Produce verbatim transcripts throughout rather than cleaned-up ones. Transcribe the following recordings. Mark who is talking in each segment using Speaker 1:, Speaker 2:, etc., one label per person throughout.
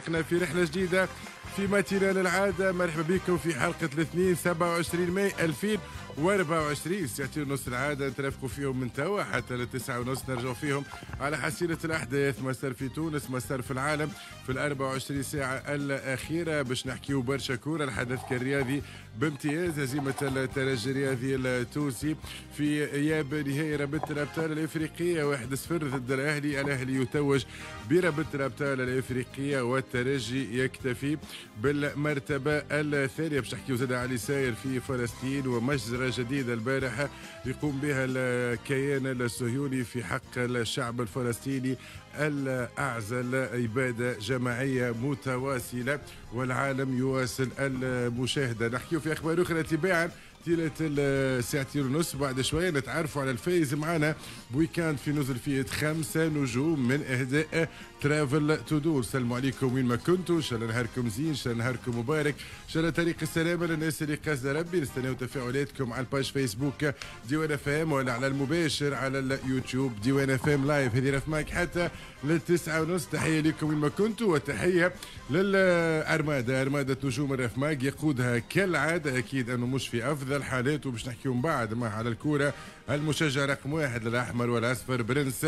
Speaker 1: في رحلة جديدة في matinale العادة. مرحبا بكم في حلقة الاثنين سبعة وعشرين ماي ألفين وأربعة وعشرين، ساعتين ونص العادة نترافقوا فيهم من توا حتى للتسعة ونص، نرجعوا فيهم على حصيلة الأحداث ما صار في تونس ما صار في العالم في الأربعة وعشرين ساعة الأخيرة، باش نحكيو برشا كورة. الحدث الرياضي بامتياز هزيمة الترجي الرياضي التونسي في إياب نهائي رابطة الأبطال الإفريقية واحد صفر ضد الأهلي. الأهلي يتوج برابطة الأبطال الإفريقية والترجي يكتفي بالمرتبة الثانية. باش نحكيو زاد على ساير في فلسطين ومجزرة جديدة البارحة يقوم بها الكيان الصهيوني في حق الشعب الفلسطيني الأعزل، إبادة جماعية متواصلة والعالم يواصل المشاهدة. نحكيو في أخبار أخرى تباعا طيلة الساعتين ونص. بعد شوية نتعرفوا على الفايز معنا ب week-end في نزل فيه خمسة نجوم من إهداء Travel To Do. سلموا عليكم وين ما كنتوا، إن شاء الله نهاركم زين، إن شاء الله نهاركم مبارك، إن شاء الله طريق السلامة للناس اللي قصد ربي. نستناو تفاعلاتكم على ال page Facebook ديوان FM ولا على المباشر على اليوتيوب ديوان FM live. هذه رفماك حتى للتسعة ونص. تحية لكم وين ما كنتوا وتحية للأرمادة، أرمادة نجوم الرفماك يقودها كالعادة أكيد أنه مش في أفضل حالاته، باش نحكيو من بعد ما على الكورة المشجع رقم واحد للأحمر والأصفر برنس.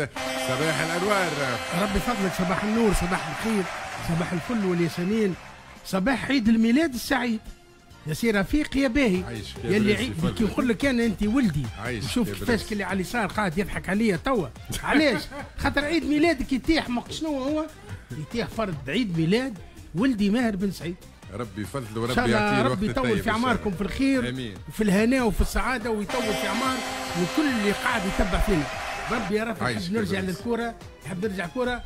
Speaker 1: صباح الأنوار،
Speaker 2: ربي فضلك. صباح النور، صباح الخير، صباح الفل والياسمين، صباح عيد الميلاد السعيد يا سي رفيق يا باهي يا اللي عيد. كي نقول لك انا انت ولدي، شوف كيفاش اللي على اليسار قاعد يضحك عليا توا. علاش؟ خاطر عيد ميلادك يتيح شنو هو؟ يتيح فرد عيد ميلاد ولدي ماهر بن سعيد.
Speaker 1: ربي يفضل وربي يعطيه الوقت
Speaker 2: ربي يطول في اعماركم في الخير وفي الهناء وفي السعادة، ويطول في اعمار وكل اللي قاعد يتبع فينا. ربي يا رب. نحب نرجع للكورة، نحب نرجع كورة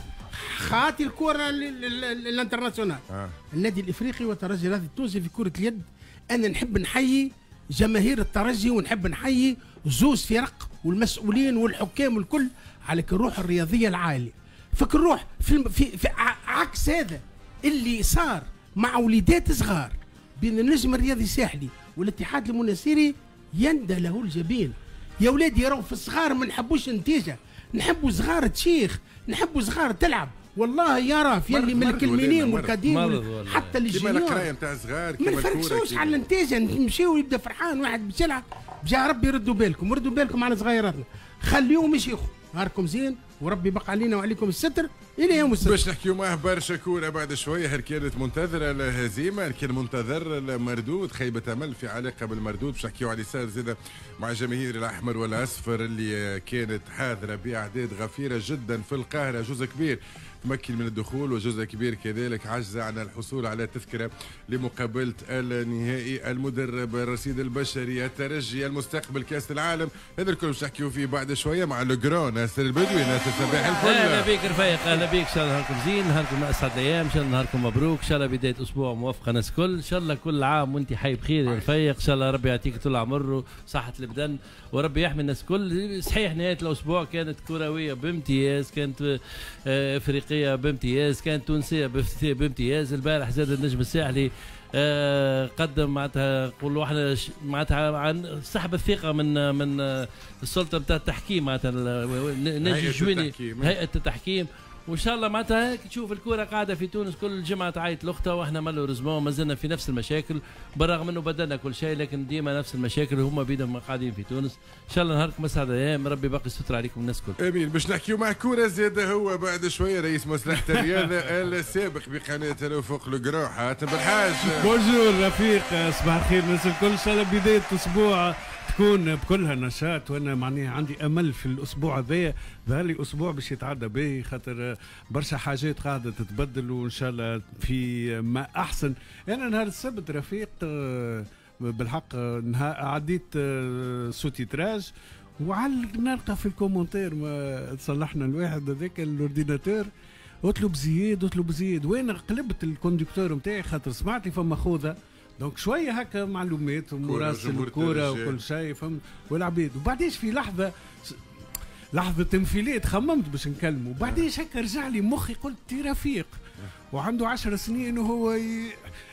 Speaker 2: خاطي الكورة ال internationale. آه. النادي الافريقي والترجي الرياضي التونسي في كره اليد. انا نحب نحيي جماهير الترجي ونحب نحيي زوز فرق والمسؤولين والحكام والكل على الروح الرياضية العالية. فك الروح في, في, في عكس هذا اللي صار مع وليدات صغار بين النجم الرياضي الساحلي والاتحاد المناسيري يندى له الجبين. يا ولادي راهو في الصغار ما نحبوش النتيجة، نحبوا صغار تشيخ، نحبوا صغار تلعب. والله يا راف يلي من الكلمينين والكادين حتى ال juniors
Speaker 1: كيما القراية نتاع صغار
Speaker 2: ما نفركسوش على النتيجة، نمشيو يبدا فرحان واحد باش يلعب. بجاه ربي ردوا بالكم، ردوا بالكم على صغيراتنا، خليهم يشيخوا. نهاركم زين وربي يبقى علينا وعليكم الستر الى يوم السبت.
Speaker 1: باش نحكيو معاه برشا كورة بعد شوية. هل كانت منتظره الهزيمة؟ هل كان منتظر المردود؟ خيبه امل في علاقة بالمردود. باش نحكيو على صار زاد مع جماهير الاحمر والاصفر اللي كانت حاضره باعداد غفيره جدا في القاهرة، جزء كبير تمكن من الدخول وجزء كبير كذلك عجز عن الحصول على تذكره لمقابلة النهائي. المدرب، الرصيد البشري، الترجي، المستقبل، كاس العالم، هذا الكل باش نحكيو فيه بعد شوية مع le grand ناصر البدوي. ناصر صباح الفل.
Speaker 3: اهلا بك رفيق، اهلا بك. ان شاء الله نهاركم زين، نهاركم اسعد الايام، ان شاء الله نهاركم مبروك، ان شاء الله بداية اسبوع موفقة ناس الكل، ان شاء الله كل عام وانت حي بخير يا رفيق، ان شاء الله ربي يعطيك طول العمر وصحة البدن وربي يحمي الناس الكل. صحيح نهاية الاسبوع كانت كروية بامتياز، كانت افريقية بامتياز، كانت تونسية بامتياز. البارح زاد النجم الساحلي آه قدم معناتها نقولوا احنا معناتها عن سحب الثقة من من السلطة نتاع التحكيم، معناتها ناجي الجويني هيئة التحكيم. وان شاء الله معناتها تشوف الكره قاعدة في تونس كل جمعه تعيط لاختها، واحنا malheureusement مازلنا في نفس المشاكل بالرغم انه بدلنا كل شيء، لكن ديما نفس المشاكل وهما بيدهم قاعدين في تونس. ان شاء الله نهاركم اسعد ايام، ربي باقي الستر عليكم الناس الكل.
Speaker 1: امين. باش نحكيو مع كورة زاد هو بعد شوية رئيس مصلحة الرياضة السابق بقناه الافق le grand حاتم بالحاج.
Speaker 4: bonjour رفيق، صباح الخير الناس الكل. ان شاء الله بداية اسبوع تكون بكلها نشاط، وانا معناها عندي امل في الاسبوع هذايا، ظهر لي اسبوع باش يتعدى به خاطر برشا حاجات قاعدة تتبدل وان شاء الله في ما احسن. انا نهار السبت رفيق بالحق نهار عديت sous-titrage وعلى نلقى في ال commentaire ما تصلحنا الواحد هذاك ال ordinateur اطلب زياد اطلب زياد، وانا قلبت ال conducteur نتاعي خاطر سمعت فما خوذه donc شوية هكا معلومات ومراسل الكورة وكل شيء فهمت والعبيد. وبعديش في لحظة لحظة انفلات خممت باش نكلمه، وبعديش هكا رجع لي مخي قلت تي رفيق وعنده عشر سنين وهو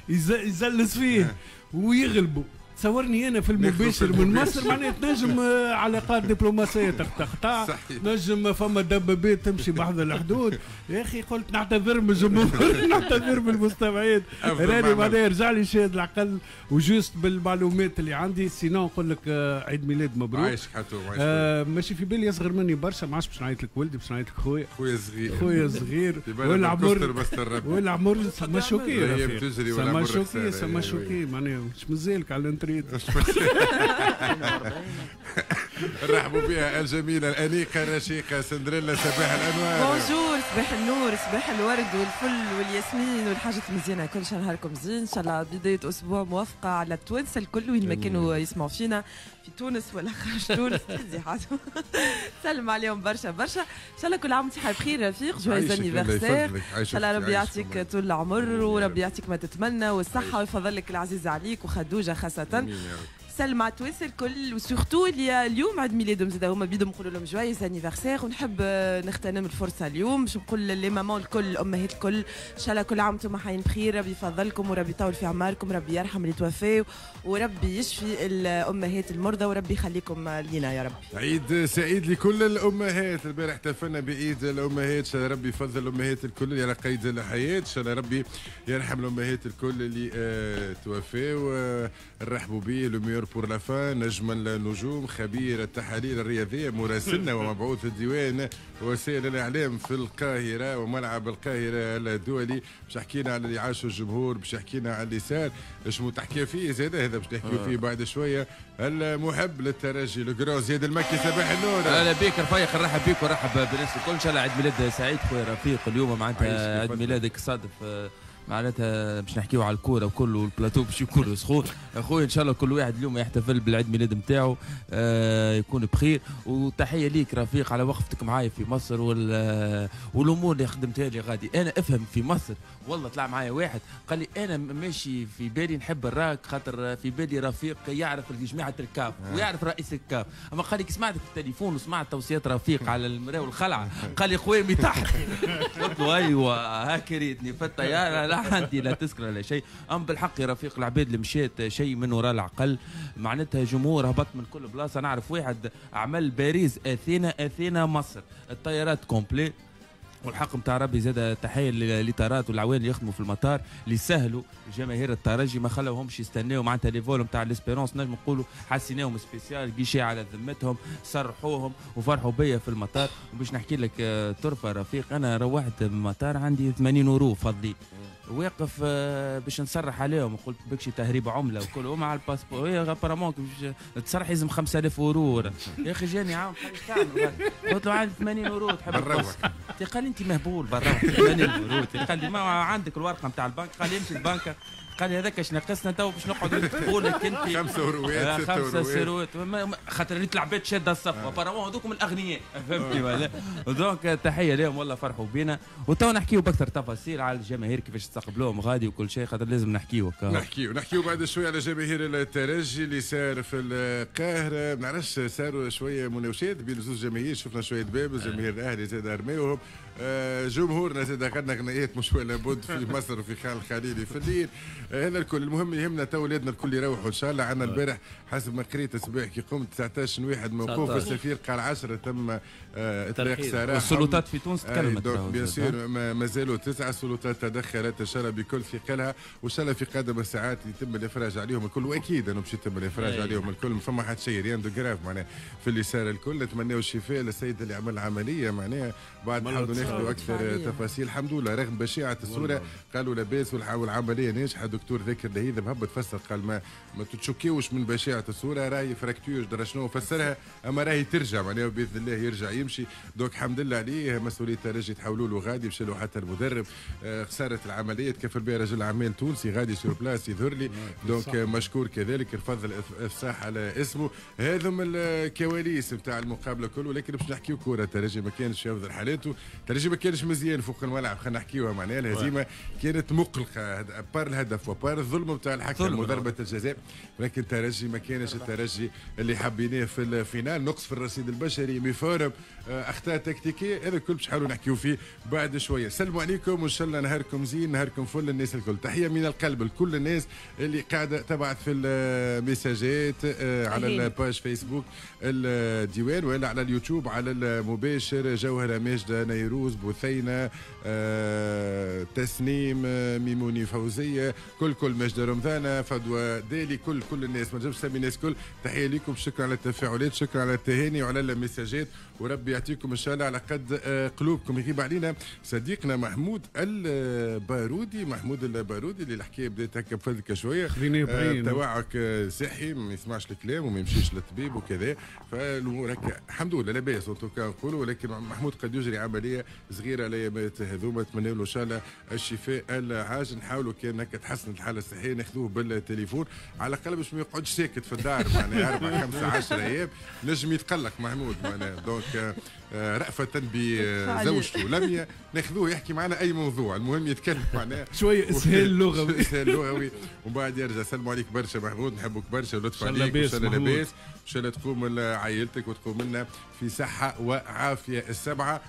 Speaker 4: يزلز فيه ويغلبه. تصورني انا في المباشر من مصر معناها تنجم علاقات دبلوماسية تقطع، تنجم فما دبابات تمشي بحذا الحدود. يا اخي قلت نعتذر من الجمهور، نعتذر من المستمعين، راني معناها رجع لي شاهد العقل و juste بالمعلومات اللي عندي. sinon نقول لك عيد ميلاد مبروك.
Speaker 1: عايشك حتو.
Speaker 4: آه ماشي في بالي اصغر مني برشا، ما عادش باش نعيط لك ولدي، باش نعيط لك خويا.
Speaker 1: خويا صغير.
Speaker 4: خويا صغير والعمر والعمر ça m'a choqué، ça m'a choqué ça m'a choqué معناها مش مازالك على الانتريت.
Speaker 1: نرحبوا بها الجميلة الانيقه الرشيقه سندريلا صباح الانوار.
Speaker 5: bonjour، صباح النور، صباح الورد والفل والياسمين والحاجات المزيانه كل شهر. نهاركم زين ان شاء الله، بداية اسبوع موفقة على التوانسة الكل وين ما كانوا يسمعوا فينا في تونس ولا خارج تونس. سلم عليهم برشا برشا. ان شاء الله كل عام وانت بخير رفيق، joyeux anniversaire. ان شاء الله ربي يعطيك طول العمر وربي يعطيك ما تتمنى والصحة ويفضل لك العزيز عليك وخدوجه خاصة. سلم على التوانسة الكل و surtout اللي اليوم عيد ميلادهم زاد هما بيدهم نقولوا لهم joyeux anniversaire. ونحب نغتنم الفرصة اليوم باش نقول les mamans الكل، الامهات الكل، ان شاء الله كل عام وانتم حيين بخير، ربي يفضلكم وربي يطول في اعماركم، ربي يرحم اللي توفاو وربي يشفي الامهات المرضى وربي يخليكم لينا يا ربي.
Speaker 1: عيد سعيد لكل الامهات. البارح احتفلنا بعيد الامهات، ان شاء الله ربي يفضل الامهات الكل اللي على قيد الحياة، ان شاء الله ربي يرحم الامهات الكل اللي آه توفاو. نرحبوا به le meilleur pour la fin، نجم النجوم، خبير التحاليل الرياضية، مراسلنا ومبعوث الديوان وسائل الاعلام في القاهرة وملعب القاهرة الدولي، باش حكينا على اللي عاشوا الجمهور، باش حكينا على اللي صار، شنو تحكي فيه زاد هذا باش نحكيو فيه بعد شوية. المحب للترجي le grand زياد المكي، صباح النور.
Speaker 6: اهلا بك رفيق، نرحب بك ونرحب بالناس الكل. ان شاء الله عيد ميلاد سعيد خويا رفيق. اليوم معناتها عيد ميلادك صادف معناتها باش نحكيو على الكورة وكل، والبلاتو باش يكون سخون اخويا. ان شاء الله كل واحد اليوم يحتفل بالعيد ميلاد نتاعو آه يكون بخير. وتحية ليك رفيق على وقفتك معايا في مصر وال والامور اللي خدمتها لي غادي. انا افهم في مصر والله طلع معايا واحد قال لي انا ماشي في بالي نحب الراك خاطر في بالي رفيق يعرف جماعة الكاف ويعرف رئيس الكاف، اما قال لي سمعتك في التليفون وسمعت توصيات رفيق على المراة والخلعه، قال لي خويا تحت. قلت له ايوه هاك ريتني في الطيارة، لا عندي لا تذكره لا شيء. ام بالحق يا رفيق العباد اللي مشات شيء من وراء العقل، معناتها جمهور هبط من كل بلاصة. نعرف واحد عمل باريس اثينا اثينا مصر، الطيارات complet. والحق نتاع ربي زاد تحية للإطارات والعوان اللي يخدموا في المطار اللي سهلوا جماهير الترجي، ما خلوهمش يستناو معناتها les vols نتاع l'Espérance نجم نقولوا حسيناهم spécial guichet على ذمتهم، صرحوهم وفرحوا بيا في المطار. وباش نحكي لك طرفه رفيق، انا روحت من المطار عندي ثمانين اورو فضي واقف باش نصرح عليهم، وقلت بكشي تهريب عمله وكل مع ال passeport هي apparemment باش تصرح لازم خمسة آلاف اورو. يا اخي جاني عام قلت له عندي ثمانين اورو تحب؟ قال لي انت مهبول برا ثمانين اورو. قال لي ما عندك الورقة نتاع البنك؟ قال لي امشي البنك. قال لي هذاك اش ناقصنا تو باش نقعدوا نكتبوا لك انت
Speaker 1: خمسة اوروات ستة
Speaker 6: خمسة اوروات، خاطر ريت العباد شاده الصف apparemment هذوكم الاغنياء، فهمتني ولا؟ donc تحية لهم والله فرحوا بينا. وتو نحكيو باكثر تفاصيل على الجماهير كيفاش استقبلوهم غادي وكل شيء، خاطر لازم نحكيو.
Speaker 1: نحكيو نحكيو بعد شوية على جماهير الترجي اللي صار في القاهرة. ما نعرفش صاروا شوية مناوشات بين زوج جماهير، شفنا شوية باب جماهير الاهلي زاد ارميوهم، جمهورنا زاد غنى غنيات مش ولا بد في مصر وفي خان الخليلي في الليل. هذا الكل المهم يهمنا تو ولادنا الكل يروحوا ان شاء الله. عندنا البارح حسب ما قريت الصباح كي قمت تسعطاش واحد موقوف، السفير قال عشرة تم اطلاق سراح.
Speaker 6: السلطات في تونس تكلمت
Speaker 1: bien sûr، مازالوا تسعة السلطات تدخلت ان شاء الله بكل ثقلها، وان شاء الله في قادم الساعات يتم الافراج عليهم الكل، واكيد انه باش يتم الافراج عليهم الكل، ما فما حتى شيء rien de grave معناها في اللي صار الكل. نتمناو الشفاء للسيد اللي عمل عملية معناها بعد نحاولوا ناخذوا اكثر تفاصيل. الحمد لله رغم بشاعه الصورة قالوا لاباس والعملية ناجحة. دكتور ذاكر لهيذب هبط فسر قال ما ما تتشكيوش من بشاعه الصورة، راهي fracture درا شنو فسرها، اما راهي ترجع معناها باذن الله يرجع يمشي. donc الحمد لله عليه. مسؤولية الترجي تحولوا له غادي، مشى له حتى المدرب. خسارة العملية تكفل بها رجل اعمال تونسي غادي sur place يظهر لي، donc مشكور كذلك رفض الافصاح على اسمه. هذم الكواليس نتاع المقابلة كل، ولكن باش نحكيو كورة الترجي ما كانش في افضل حالاته. الترجي الترجي ما كانش مزيان فوق الملعب، خلينا نحكيوها معناها الهزيمة كانت مقلقة à part الهدف و à part الظلم نتاع الحكم وضربه الجزاء، ولكن الترجي ما كانش الترجي اللي حبيناه في ال finale. نقص في الرصيد البشري، méforme، اخطاء تكتيكية، هذا الكل باش نحاولوا نحكيو فيه بعد شوية. سلموا عليكم وان شاء الله نهاركم زين، نهاركم فل الناس الكل. تحية من القلب لكل الناس اللي قاعدة تبعث في المساجات على ال page فيسبوك الديوان ولا على اليوتيوب على المباشر. جوهره ماجدة، نيروز، بثينه، آه، تسنيم، ميموني، فوزيه، كل كل ماجدة رمضانه، فدوى دالي، كل كل الناس، ما نجمش نسمي الناس كل. تحية لكم، شكرا على التفاعلات، شكرا على التهاني وعلى المساجات، وربي يعطيكم ان شاء الله على قد قلوبكم. يغيب علينا صديقنا محمود البارودي، محمود البارودي اللي الحكاية بدات هكا بفلكه شوية، آه توعك صحي، ما يسمعش الكلام وما يمشيش للطبيب وكذا، فالامور هكا الحمد لله لاباس en tout cas نقولوا. ولكن محمود قد يجري عملية صغيرة الايامات هذوما، نتمنى له ان شاء الله الشفاء العاجل. نحاولوا كان هكا تحسن الحالة الصحية ناخذوه بالتليفون على الاقل باش ما يقعدش ساكت في الدار معناها اربع خمسة عشرة ايام، نجم يتقلق محمود معناها. donc رأفة بزوجته لميا ناخذوه يحكي معنا اي موضوع، المهم يتكلم معناها
Speaker 4: شوية اسهال لغوي،
Speaker 1: اسهال لغوي ومن بعد يرجع. سلموا عليك برشا محمود، نحبك برشا ولطف عليك، وان شاء الله لاباس، ان شاء الله تقوم عائلتك وتقوم لنا في صحة وعافيه. السبعة.